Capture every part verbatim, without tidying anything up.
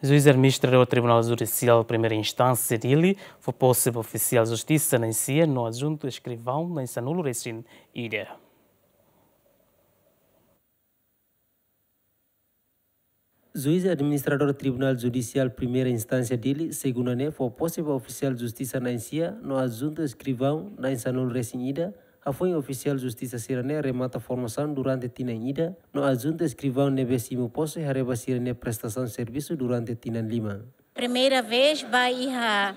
Juiz administradór Tribunál Judisiál Primeira Instánsia Dili fó pose ba ofisiál justisa na'in sia no adjuntu eskrivaun na'in sanulu resin ida. Juiz administradór Tribunál Judisiál Primeira Instánsia Dili, segunda ne'e, fó pose ba ofisiál justisa na'in sia no adjuntu eskrivaun na'in sanulu resin ida, hafoin ofisiál justisa sira-ne'e remata formasaun durante tinan ida, no adjuntu eskrivaun ne'ebé simu pose haree ba sira-nia prestasaun servisu durante tinan lima. Primeira vez ba iha,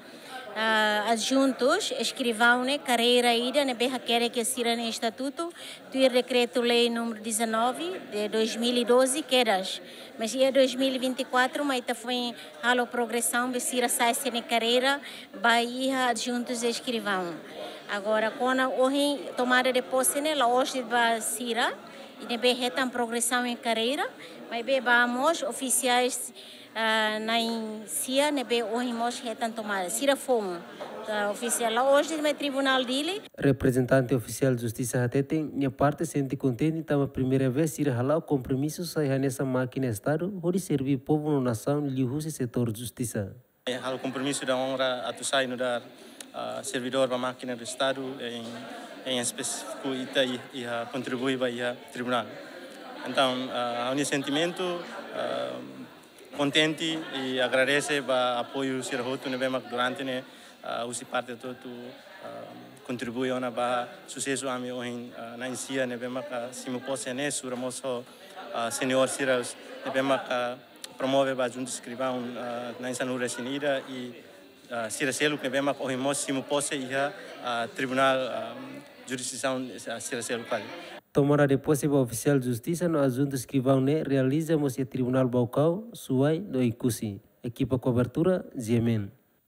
ah, adjuntus eskrivaun ne'e karreira ida ne'ebé hakerek iha sira-nia estatutu, tuir Dekretu-Lei número dezanove de dois mil e doze, kedas. Mas iha dois mil e vinte e quatro, mai ita foin halo progresaun, be sira sai sira-nia karreira ba iha adjuntus eskrivaun. Agora, kona ohin tomada de pose ne'e la'ós de'it ba sira ne'ebé hetan progresaun iha karreira, maibé ba mós ofisiais, ah, na'in sia ne'ebé ohin mós hetan tomada. Sira foun, ah, ofisiál la'ós de'it mai Tribunál Dili. Reprezentante ofisiál justisa hateten, nia parte sente kontente tanba primeira vez sira hala'o kompromisu sai hanesan mákina Estadu, hodi serví povu no nasaun liuhusi setór justisa. Eh, halo kompromisu dan onra atu sai nu'udar, ah, servidór ba mákina do Estadu, em, em específico ita i-, iha kontribui ba iha tribunál. Entaun, ah, ha'u-nia sentimentu, ah, kontente i agradese ba apoiu sira hotu ne'ebé mak durante ne'e, ah, husi parte hotu-hotu, ah, kontribui ona ba susesu ami ohin, ah, na'in sia ne'ebé mak, ah, simu pose ne'e, sura mós ho, ah, seniór sira ne'ebé mak, ah, promove ba adjuntu eskrivaun, ah, na'in sanulu resin ida i, ah, sira seluk ne'ebé mak ohin mós simu pose iha, ah, tribunál, ah, jurisdisaun, ah, sira seluk fali. Tomada de pose ba ofisiál justisa no adjuntu eskrivaun ne'e realiza mós iha Tribunál Baucau, Suai no Oekusi. Ekipa kobertura, G M N.